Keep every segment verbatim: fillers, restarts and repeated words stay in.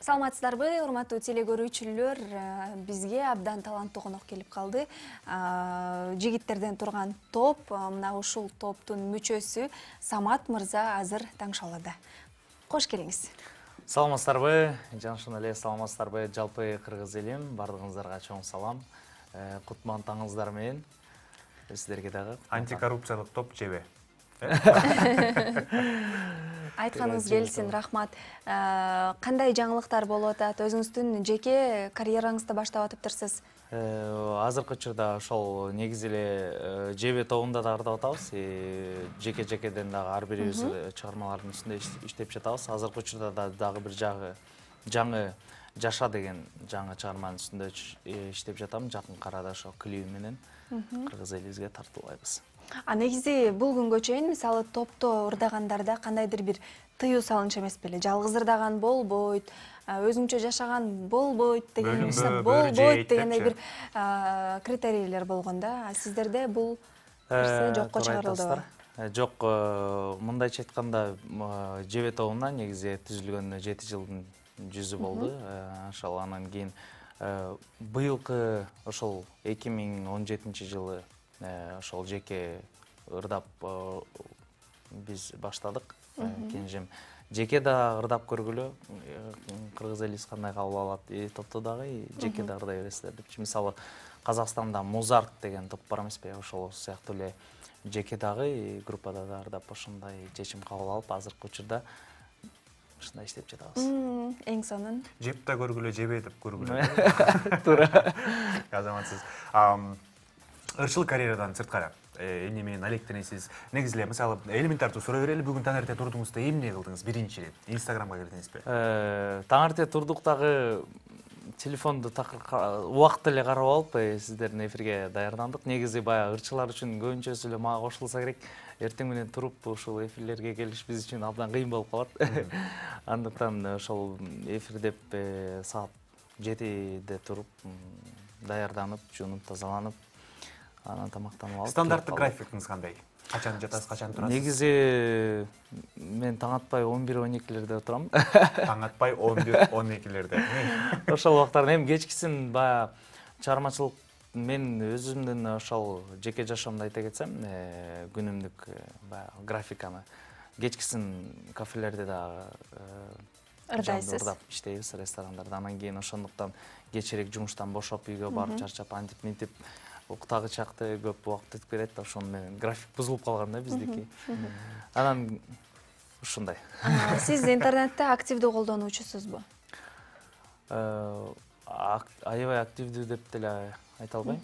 Саламатсыздарбы, урматтуу теле көрүүчүлөр, бизге абдан таланттуу конок келип калды. Жигиттерден турган топ, мына ушул топтун мүчөсү Самат мырза азыр таңшалады. Кош келиңиз. Саламатсыздарбы, жанышын эле саламатсыздарбы, жалпы кыргыз элим, бардыгыңыздарга чоң салам. Кутман таңыңыздар менен. Сиздерге дагы антикоррупциялык топ жебе. Айтканыңыз келсин, рахмат. Кандай жаңылыктар болуп атат? Өзүңүздүн жеке карьераңызды баштап атыптырсыз. Азыркы учурда ошол негизи эле жебе тобунда да ырдап атабыз. Жеке-жекеден дагы ар бирибиз чыгармалардын үстүндө иштеп жатабыз. Азыркы учурда да дагы бир жагы жаңы Жаша деген жаңы чыгарманын үстүндө иштеп жатам. Жакын арада ошо клип менен кыргыз элибизге тартуулайбыз. А негизи бул күнгө чейин мисалы топто ырдагандарда кандайдыр бир тыюу салынч эмес беле? Жалгыз ырдаган болбойт, өзүңчө жашаган болбойт деген болбойт дегендей бир критерийлер болгон да. Сиздерде бул нерсе жокко чыгарылдыбы? Жок, мындайча айтканда жебе тобуна негизи түзүлгөнүнө жети жылдын жүзү болду. Ошол анан кийин быйылкы ошол эки миң он жетинчи жылы ошол жеке ырдап биз баштадык. Кенжем жеке да ырдап көргүлө, кыргыз элибиз кандай кабыл алат, топто дагы жеке да ырдай бересиздер депчи. Мисалы Казакстанда Музарт деген топ бар эмеспи? Ошол сыяктуу эле жеке дагы группада да ырдап ошондой чечим кабыл алып, азыркы учурда ушундай иштеп жатабыз. Эң сонун. Жеп да көргүлө, жебе деп көргүлө. Туура. Азаматсыз. Ырчылык карьерадан сырткары эмне менен алектенесиз? Негизи эле мисалы элементардуу суроо берели, бүгүн таң эрте турдуңузда эмне кылдыңыз биринчи ирет? Инстаграмга кирдиңизби? Таң эрте турдук дагы телефонду убакыт эле карап алып, сиздердин эфирге даярдандык. Негизи баягы ырчылар үчүн көбүнчөсү эле мага кошулса керек. Эртең менен туруп ушул эфирлерге келиш биз үчүн абдан кыйын болуп калат. Андыктан ошол эфир деп саат жетиде туруп, даярданып, жуунуп, тазаланып, анан тамактанып алып. Стандарттык графикиңиз кандай? Качан жатасыз, качан турасыз? Негизи мен таң атпай он бир он экилерде турам. Таң атпай он бир он экилерде. Ошол убактарда эми кечкисин баягы чыгармачылык мен өзүмдүн ошол жеке жашоомду айта кетсем, күнүмдүк баягы графиканы кечкисин кафелерде дагы ырдайсыз, ырдап иштейбиз, ресторандарда. Анан кийин ошондуктан кечирээк жумуштан бошоп үйгө барып чарчап антип мынтип уктагы чакты көп убакыт өтүп кетет. Ошону менен график бузулуп калган да биздики. Анан ушундай. Сиз интернетте активдүү колдонуучусузбу? Аябай активдүү деп деле айта албайм.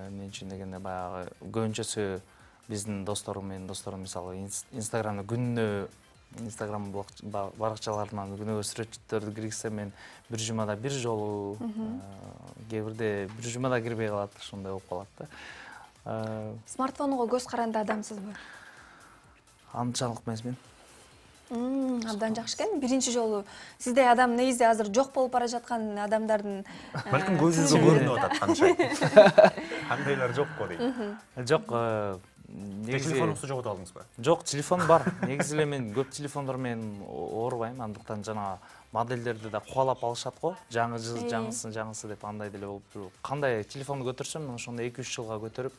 Мен үчүн дегенде баягы көбүнчөсү биздин досторум менен досторум мисалы Инстаграмда күнүнө Инстаграм баракчаларынан күнөөгө сүрөттөрдү киргизсем, мен бир жумада бир жолу, кээ бирде бир жумада кирбей калат, ошондой болуп калат да. Смартфонго көз каранды адамсызбы? Анчалык эмесмин. Абдан жакшы экен. Биринчи жолу сиздей адам негизи азыр жок болуп бара жаткан адамдардын балким көзүңүзгө көрүнүп атат канча. Кандайлар жокко дейт. Жок, телефонуңузду жогото алдыңызбы? Жок, телефон бар. Негизи эле мен көп телефондор менен оорубайм, андыктан жана модельдерди да кубалап алышат го. Жаңы жыл, жаңысы, жаңысы деп андай деле болуп, кандай телефонду көтөрсөм, ошондо эки үч жылга көтөрүп,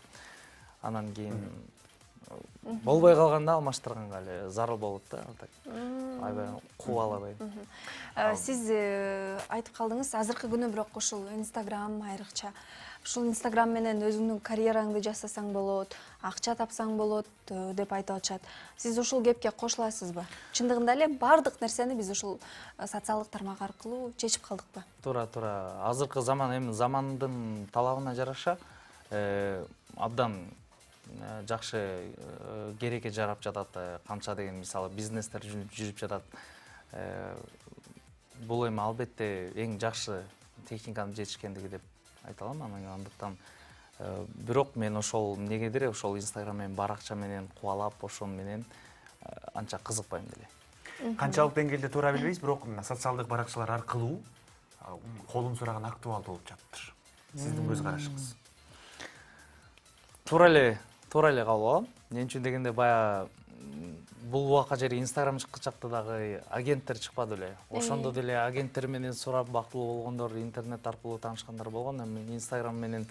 анан кийин болбой калганда алмаштырганга эле зарыл болот да. Аябай кубалабай. Сиз айтып калдыңыз, азыркы күнү бирок ушул Инстаграм айрыкча. Ушул Инстаграм менен өзүңдүн карьераңды жасасаң болот, акча тапсаң болот деп айтып атышат. Сиз ушул кепке кошуласызбы? Чындыгында эле бардык нерсени биз ушул социалдык тармак аркылуу чечип калдыкпы? Туура, туура. Азыркы заман эми замандын талабына жараша абдан жакшы керекке жарап жатат. Канча деген мисалы бизнестер жүрүп жатат. Бул эми албетте эң жакшы техниканын жетишкендиги деп айта алам. Андыктан бирок мен ошол эмнегедир ошол Инстаграм менен баракча менен кубалап, ошон менен анча кызыкпайм деле. Канчалык деңгээлде туура билбейбиз, бирок мына социалдык баракчалар аркылуу колун сураган актуалдуу болуп жатыптыр. Сиздин көз карашыңыз? Туура эле, туура эле кабыл алам. Эмне үчүн дегенде баягы бул убакка жери Инстаграм чыккычакта дагы агенттер чыкпады эле. Ошондо деле агенттер менен сурап бактылуу болгондор, интернет аркылуу таанышкандар болгон. Эми Инстаграм менен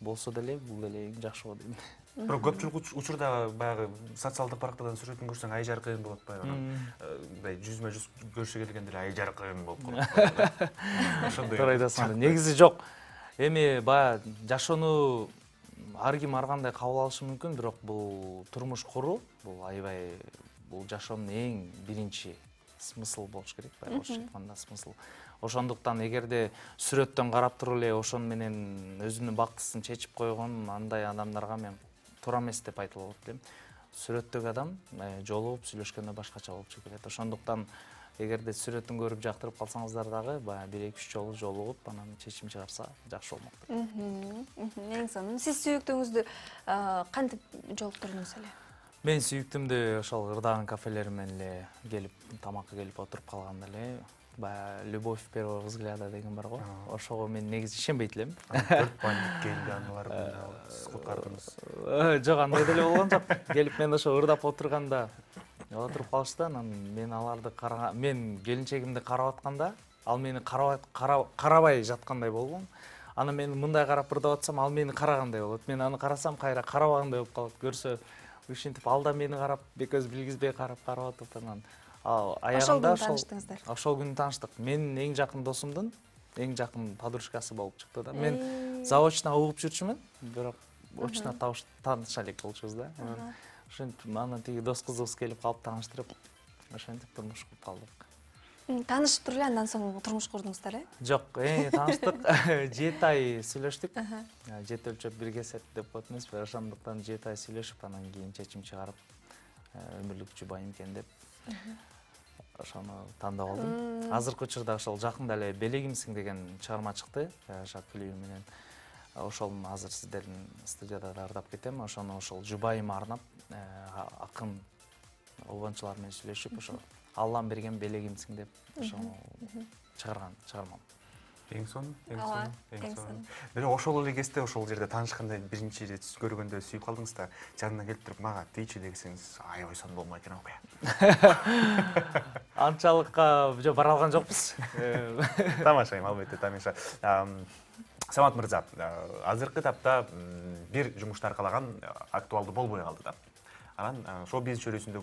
болсо деле бул деле эң жакшы болот дейм. Бирок көпчүлүк учурда баягы социалдык барактардан сүрөтүн көрсөң ай жаркын болот баягы. Мындай жүзмө жүз көрүшкө келгенде эле ай жаркын болуп калат. Ошондой. Туура айтасың. Негизи жок. Эми баягы жашоону ар ким ар кандай кабыл алышы мүмкүн, бирок бул турмуш куруу, бул аябай бул жашоонун эң биринчи смысл болуш керек, баягы орусча айтканда смысл. Ошондуктан эгерде сүрөттөн карап туруп эле ошон менен өзүнүн бактысын чечип койгон андай адамдарга мен туура эмес деп айтып болот элем. Сүрөттөгү адам жолугуп сүйлөшкөндө башкача болуп чыгып кетет. Ошондуктан эгерде сүрөтүн көрүп жактырып калсаңыздар дагы баягы бир эки үч жолу жолугуп анан чечим чыгарса жакшы болмок. Эң сонун. Сиз сүйүктүүңүздү кантип жолуктурдуңуз эле? Мен сүйүктүмдү ошол ырдаган кафелер менен эле келип, тамакка келип отуруп калганда эле баягы любовь первого взгляда деген бар го. Ошого мен негизи ишенбейт элем. Төрт бандит келди, аналар куткардыңыз. Жок, андай деле болгон жок. Келип мен ошо ырдап отурганда отуруп калышты, анан мен аларды караган, мен келинчегимди карап атканда, ал мени карабай жаткандай болгон. Анан мен мындай карап ырдап атсам, ал мени карагандай болот. Мен аны карасам, кайра карабагандай болуп калат. Көрсө, ушинтип ал да мени карап, бекөз билгизбей карап карап атып, анан ал аягында ошол ошол күнү тааныштык. Менин эң жакын досумдун эң жакын подружкасы болуп чыкты да. Мен заочно угуп жүрчүмүн, бирок очно тааныша элек болчубуз да. Ошентип анан тиги дос кызыбыз келип калып тааныштырып, ошентип турмуш куруп калдык. Таанышып туруп эле андан соң турмуш курдуңуздар э? Жок, тааныштык, жети ай сүйлөштүк. Жети өлчөп бир кесет деп коет эмеспи? Ошондуктан жети ай сүйлөшүп, анан кийин чечим чыгарып, өмүрлүк жубайым экен деп ошону тандап алдым. Азыркы учурда ошол жакында эле Белегимсиң деген чыгарма чыкты, Жак клипи менен. Ошол азыр сиздердин студияда ырдап кетем. Ошону ошол жубайыма арнап, акын обончулар менен сүйлөшүп, ошо Аллам берген белегимсиң деп ошону чыгарган чыгармам. Эң сонун, эң сонун, эң сонун. Бирок ошол эле кезде ошол жерде таанышканда биринчи ирет көргөндө сүйүп калдыңыз да, жанынан келип туруп мага тийчи десеңиз, аябай сонун болмой экен окуя. Анчалыкка жок бара алган жокпуз. Тамашайм, албетте тамаша. Самат мырза, азыркы тапта бир жумуш таркалаган актуалдуу болбой калды да. Анан шоу-бизнес чөйрөсүндө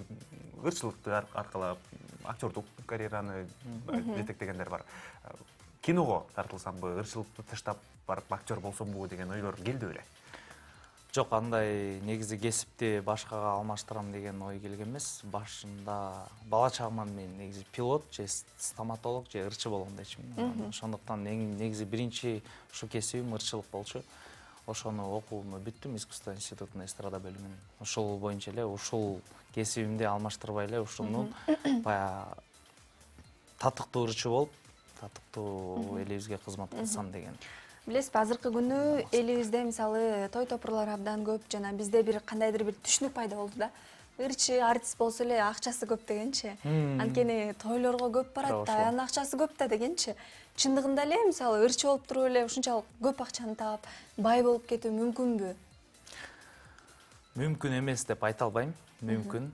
ырчылыкты аркылап актёрдук карьераны жетектегендер бар. Киного тартылсамбы, ырчылыкты таштап барып актер болсомбу деген ойлор келди беле? Жок, андай негизи кесипти башкага алмаштырам деген ой келген эмес. Башында бала чагыман мен негизи пилот же стоматолог же ырчы болгон дечимин. Ошондуктан негизи биринчи ушу кесибим ырчылык болчу. Ошону окууну бүттүм, искусство институтунун эстрада бөлүмүн. Ошол боюнча эле ушул кесибимди алмаштырбай эле ушуну баягы татыктуу ырчы болуп, татыктуу элибизге кызмат кылсам деген. Билесизби, азыркы күнү элибизде мисалы той топурлар абдан көп, жана бизде бир кандайдыр бир түшүнүк пайда болду да. Ырчы артист болсо эле акчасы көп дегенчи. Анткени тойлорго көп барат да, анын акчасы көп да дегенчи. Чындыгында эле мисалы ырчы болуп туруп эле ушунчалык көп акчаны таап, бай болуп кетүү мүмкүнбү? Мүмкүн эмес деп айта албайм. Мүмкүн.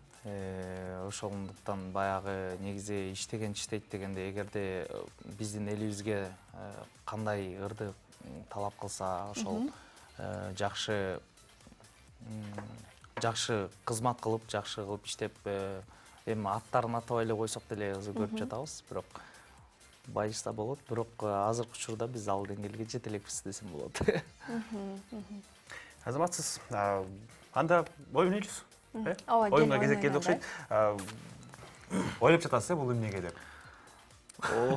Ошондуктан баягы негизи иштеген иштейт дегенде, эгерде биздин элибизге кандай ырды талап кылса, ошол жакшы жакшы кызмат кылып, жакшы кылып иштеп, эми аттарын атабай эле койсок деле көрүп жатабыз, бирок байышса болот, бирок азыркы учурда биз ал деңгээлге жете элекпиз десем болот. Азаматсыз, анда ойнойбуз. Ооба, оюнга кезек келди окшойт. Ойлоп жатасыз бул эмнеге деп?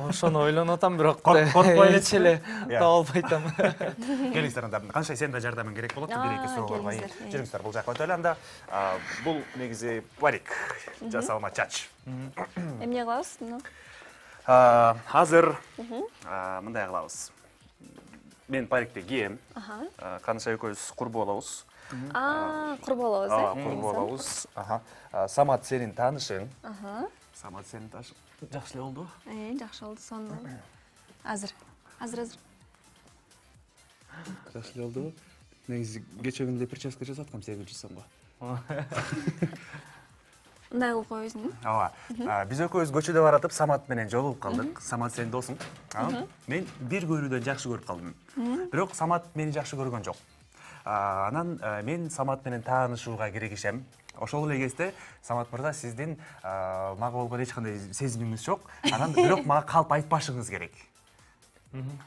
Ошону ойлонуп атам, бирок коркпой эч эле таба албай атам. Келиңиздер анда. Канча сен да жардамың керек болот, бир эки суроо бар. Жүрүңүздөр, бул жакка өтөлү анда. Бул негизи парик жасалма чач. Эмне кылабыз муну? Азыр мындай кылабыз. Мен парикти кийем. Каныша экөөбүз курбу болобуз. А, курбу болобуз, э? Курбу болобуз. Самат сенин таанышың. Самат сенин таанышың. Жакшы эле болду. Э, жакшы болду, сонун. Азыр. Азыр, азыр. Жакшы эле болду. Негизи кече күнү прическа жасаткам, сегиз жүз сомго. мындай кылып койбойсуңбу? Ооба. Биз экөөбүз көчөдө баратып Самат менен жолугуп калдык. Самат сенин досуң. Мен бир көрүүдөн жакшы көрүп калдым. Бирок Самат мени жакшы көргөн жок. Анан мен Самат менен таанышууга киригишем. Ошол эле кезде Самат мырза сиздин мага болгон эч кандай сезимиңиз жок. Анан бирок мага калп айтпашыңыз керек.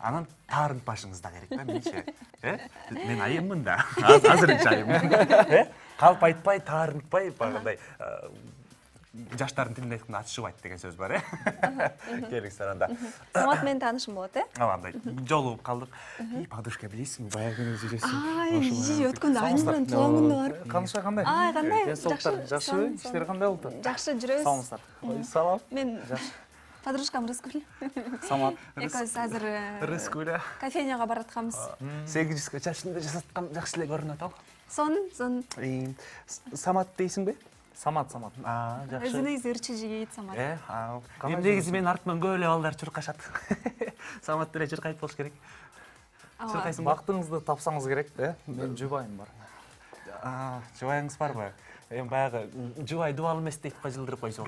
Анан таарынтпашыңыз да керек да менчи. Э? Мен айыммын да. Азырынча айыммын. Э? Калп айтпай, таарынтпай багындай жаштардын тилинде айтканда ачышыбайт деген сөз бар, э? Келик саранда. Самат менен таанышым болот, э? Ооба, андай жолугуп калдык. И подружка билесиңби, баягы күнү жүрөсүң. Ай, жи өткөндө айым менен тууган күндө барып. Каныша кандай? Ай, кандай? Жакшы, жакшыбы? Иштер кандай болду? Жакшы жүрөбүз. Саламатсыздар. Салам. Мен подружкам Рыскүл. Самат. Экөөбүз азыр Рыскүл. кофейняга баратканбыз. сегизинчи чачымды жасаткан жакшы эле көрүнөт ал. Сон, сон. Самат дейсиңби? Самат, Самат. А, жакшы. Өзүнүз ырчы жигит Самат. Э, эми негизи менин артыман көп эле балдар чуркашат. Самат деле чуркайт болуш керек. Чуркайсың ба? Бактыңызды тапсаңыз керек, э? Мен жубайым бар. А, жубайыңыз барбы? Эми баягы жубай дубал эмес дейт го, жылдырып койсо.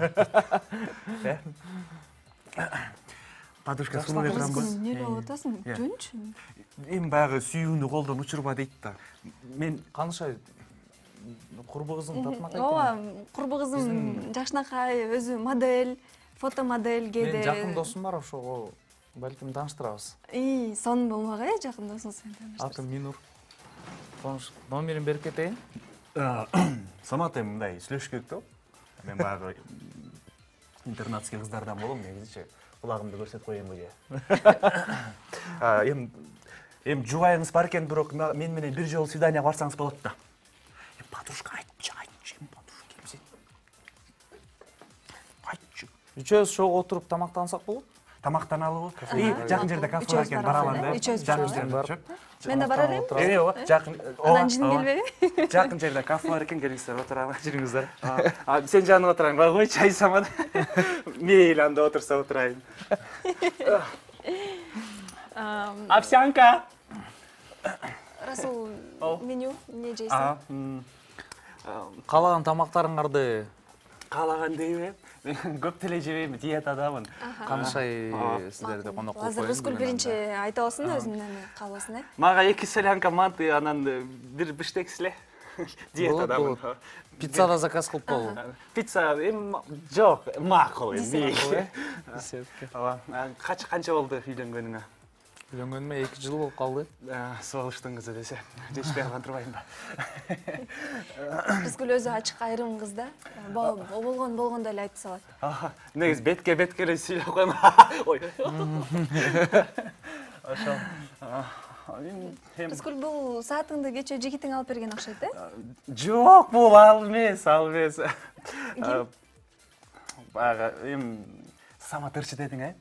Э? Подружка сулуу экранбы? Эмне болуп атасың? Жөнчү. Эми баягы сүйүүнү колдон учурба дейт да. Мен Каныша курбу кызым татынакай. Ооба, курбу кызым жакшынакай, өзү модель, фотомодель кээде. Мен жакын досум бар, ошого балким тааныштырабыз. И, сон болмок, э, жакын досуңуз менен тааныштырабыз. Атым Минур. Коныш, номерин берип кетейин. Самат эми мындай сүйлөшүш керек да. Мен баягы интернатский кыздардан болом, негизичи. Кулагымды көрсөтүп коеюнбу же. Эми эми жубайыңыз бар экен, бирок мен менен бир жолу свиданияга барсаңыз болот да. Подружка айтчы, айтчы, подружка эмсен. Айтчы. Үчөөбүз чогуу отуруп тамактансак болот? Тамактаналыбы? И жакын жерде кафе бар экен, баралам да. Жакын жерде барып. Мен да бара берейин. Эми ооба, жакын. Анан жиным келбеби? Жакын жерде кафе бар экен, келиңиздер, отуралы, жүрүңүздөр. А сен жаныңа отураң, бага кой чай Самат. Мейли анда отурса отурайын. Овсянка. Расул, меню эмне жейсиң? Каалаган тамактарыңарды Каалаган дейби? Мен көп деле жебейм, диетадамын. Канышай сиздерди конок кылып Азыр Рыскүл биринчи айта алсын өзүнүн каалоосун, э? Мага эки солянка манты, анан бир биштек силе. Диетадамын. Пиццада заказ кылып коелу. Пицца эми жок, макул эми. Десятка. Ооба. Канча канча болду үйлөнгөнүңө? Үйлөнгөнүмө эки жыл болуп калды. Согуштун кызы десе, жетишпей калган турбайм ба? Рыскүл өзү ачык айрым кыз да. Болгон болгондой эле айтып салат. Негизи бетке бетке эле сүйлөп койм. Ой. Ошол. Рыскүл, бул саатыңды кечээ жигитиң алып берген окшойт, э? Жок, бул ал эмес, ал эмес. Баягы эми Самат ырчы дедиң, э?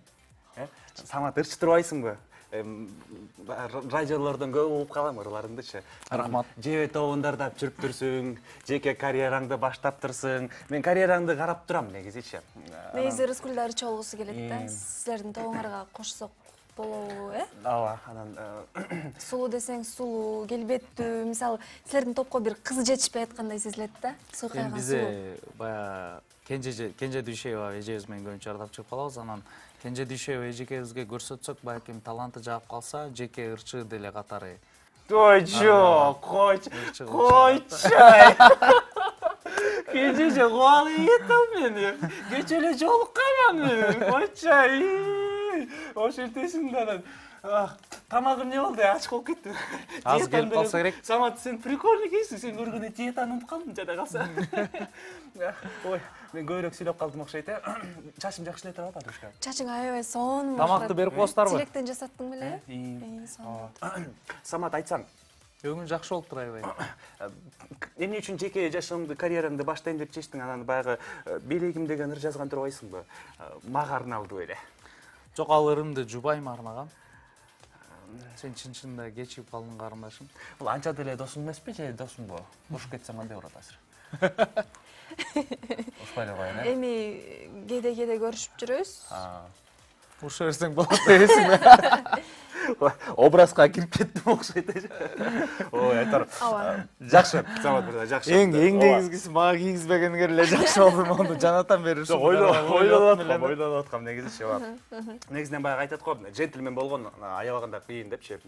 Самат ырчы турбайсыңбы? Радиолордон көп угуп калам ырларыңдычы. Рахмат. Жебе тобундарда жүрүп турсуң, жеке карьераңды баштап турсуң. Мен карьераңды карап турам негизичи. Негизи Рыскүл да ырчы болгусу келет да. Силердин тобуңарга кошсок болобу, э? Ооба, анан сулуу десең сулуу, келбеттүү. Мисалы, силердин топко бир кыз жетишпей аткандай сезилет да. Сыйкайган сулуу. Бизде баягы Кенже Кенже Дүйшеева эжебиз менен көбүнчө ырдап чыгып калабыз. Анан Кенже Дүйшеева эжекебизге көрсөтсөк, балким таланты жаап калса, жеке ырчы деле катары. Ой, жок, койчу. Койчу. Кенже куалы кетем мени. Кече эле жолукканмын мен. Койчу. Ошентесиң да анан. Тамагым не болду? Ач болуп кетти. Аз келип калса керек. Самат, сен прикольный экенсиң. Сен көргөндө диетаны унутуп калдым жада калса. Ой, мен көбүрөөк сүйлөп калдым окшойт, э? Чачым жакшы эле турабы, подружка? Чачың аябай сонун. Тамакты берип коесуздарбы? Тилектен жасаттың беле? Самат, айтсаң. Өңүң жакшы болуп тур аябай. Эмне үчүн жеке жашоомду, карьерамды баштайм деп чечтиң? Анан баягы белегим деген ыр жазган турбайсыңбы? Мага арналды беле. Жок, ал ырымды жубайыма арнаган. Сен чын-чынында кечигип калдың карындашым. Бул анча деле досуң эмеспи же досуңбу? Ушуп кетсең кандай болот азыр? Ушпай эле коеюн, э? Эми кээде-кээде көрүшүп жүрөбүз. Уруша берсең болот дебесиңби? образга кирип кеттим окшойт. Ой, айтар. Жакшы, Самат мырза, жакшы. Эң эң негизгиси мага кийгизбегенге эле жакшы болду. Мону жанатан бери ушу ойлонуп аткам, ойлонуп аткам негизичи. Негизинен баягы айтат го, джентльмен болгон аябаганда кыйын депчи.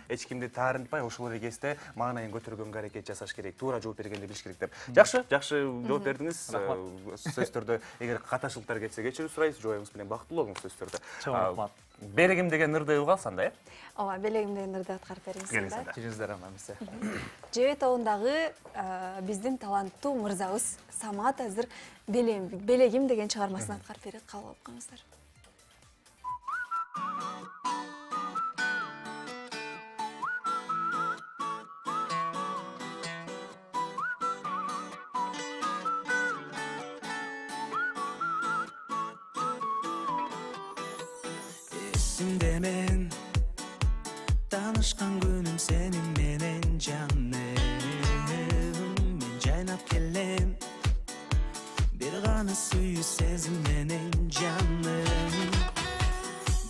Эч кимди таарынтпай ушул эле кезде маанайын көтөргөнгө аракет жасаш керек, туура жооп бергенди билиш керек деп. Жакшы, жакшы жооп бердиңиз. Сөзсүз түрдө эгер каташылыктар кетсе кечирүү сурайбыз, жоюңуз менен бактылуу болуңуз сөзсүз түрдө. Чоң рахмат. Белегим деген ырды угалсам да, э? Ооба, белегим деген ырды аткарып бериңиз. Келиңиздер амамисе. Жебе тобундагы биздин таланттуу мырзабыз Самат азыр белегим деген чыгармасын аткарып берет, кабыл алып коюңуздар. Эсимде мен таанышкан күнүм сенин менен жаным, мен жайнап келем бир гана сүйүү сезим менен жаным.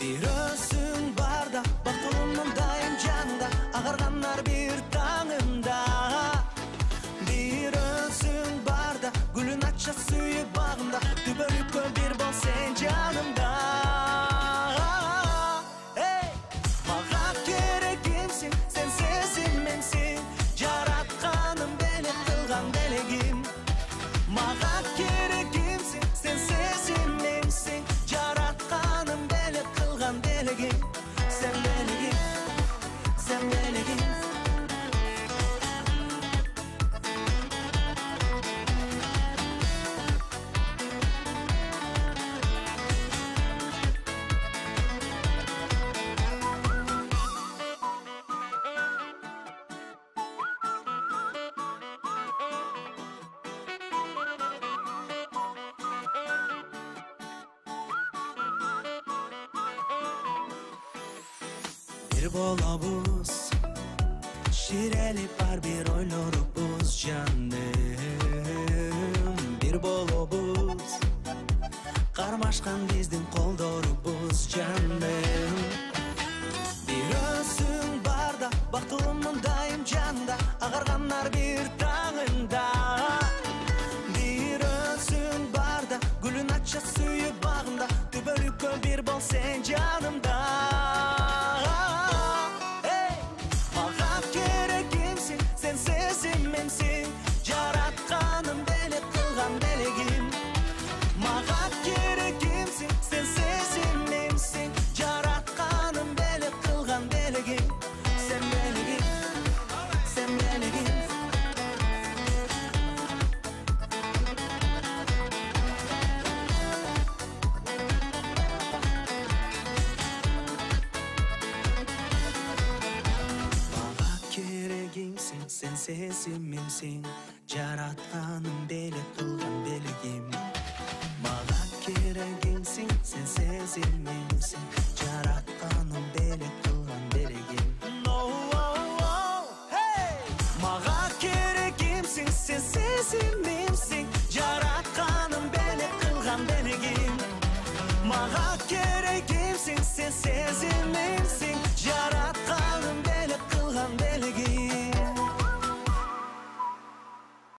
Бир өзүң барда бактылымын дайым жанымда, агарганар бир таңымда. Бир өзүң барда гүлүн ача сүйүү багымда, түбөлүккө бир бол сен жанымда. Bir bolobuz, şirelip var bir oylorubuz canım. Bir bolobuz, karmaşkan bizdin koldorubuz canım. Bir özün barda, baktılımın daim canda, agarganlar bir tağında. Bir özün barda, gülün açça suyu bağında, tübölükkö bir bol sen canımda. Sen sesimimsin, yaratkanım beli kılgan beligim. Maga keregimsin, sen sesimimsin, yaratkanım beli kılgan beligim. No, oh, oh, hey! Maga keregimsin, sen sesimimsin, yaratkanım beli kılgan beligim. Maga keregimsin, sen sesimimsin, yaratkanım